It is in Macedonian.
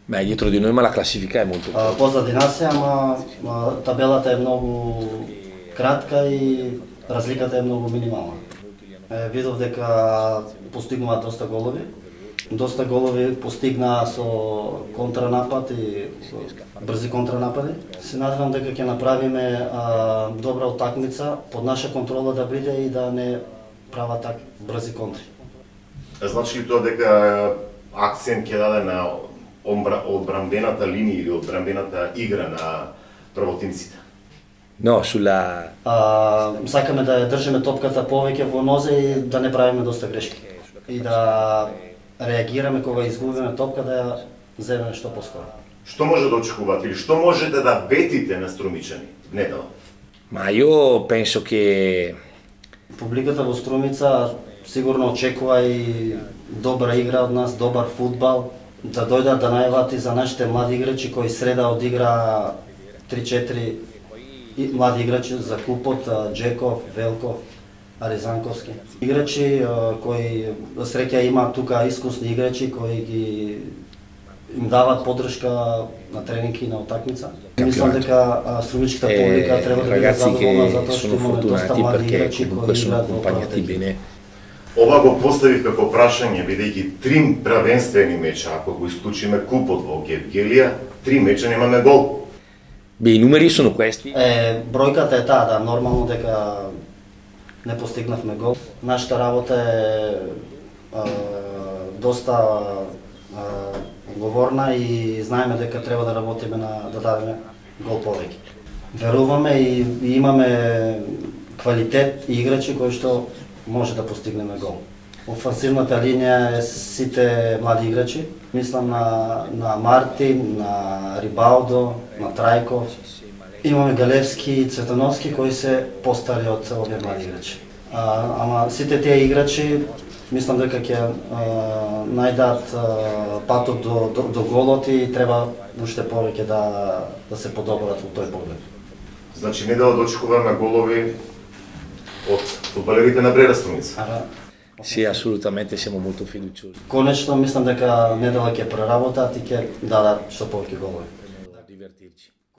Beh, dietro di noi ma la classifica è molto corta. Позади нас е, ама табелата е многу кратка и разликата е многу минимална. Видов дека постигнува доста голови. Доста голови постигнаа со контранапад и брзи контранапади. Се надевам дека ќе направиме добра утакмица, под наша контрола да биде и да не прават так брзи контри. Значи ли тоа дека акцент ќе даде на одбранбената линија или одбранбената игра на правотинците? No, sulla... Сакаме да ја држиме топката повеќе во нозе и да не правиме доста грешки. И да реагираме кога изгубиме топка да ја земеме што поскоро. Што може да очекувате или што можете да бетите на Струмичани недела? Ma io penso che... Публиката во Струмица сигурно очекува и добра игра од нас, добар фудбал, да дојдат да најават и за нашите млади играчи кои среда одигра 3-4 млади играчи за клубот, Джеков, Велков, Аризанковски. Играчи кои среќа има тука искусни играчи кои ги им дават поддршка на тренинги и на утакмица. Мислам дека струмичката публика треба да биде задоволна затоа што имаме доста млади играчи кои играат во партија. Ова го поставив како прашање, бидејќи 3 правенствени меча, ако го исклучиме купот во Гевгелија, 3 меча немаме гол. Beh, i numeri sono questi. Бројката е таа, да, нормално дека не постигнавме гол. Нашата работа е доста говорна и знаеме дека треба да работиме да дадеме гол повеќе. Веруваме и имаме квалитет и играчи кои што може да постигнеме гол. Офансивната линија е сите млади играчи. Мислам на Мартин, на Рибалдо, на Трајков. Имаме Галевски и Цветановски кои се постари од овие млади играчи. Ама сите тие играчи мислам дека ќе најдат патот до голот и треба уште повеќе да се подобрат во тој поглед. Значи недела да очекуваме голови од фудбалерите на Брера Струмица. Sì, assolutamente siamo molto fiduciosi. Конечно мислам дека недела ќе преработат и ќе дадат што повеќе голови.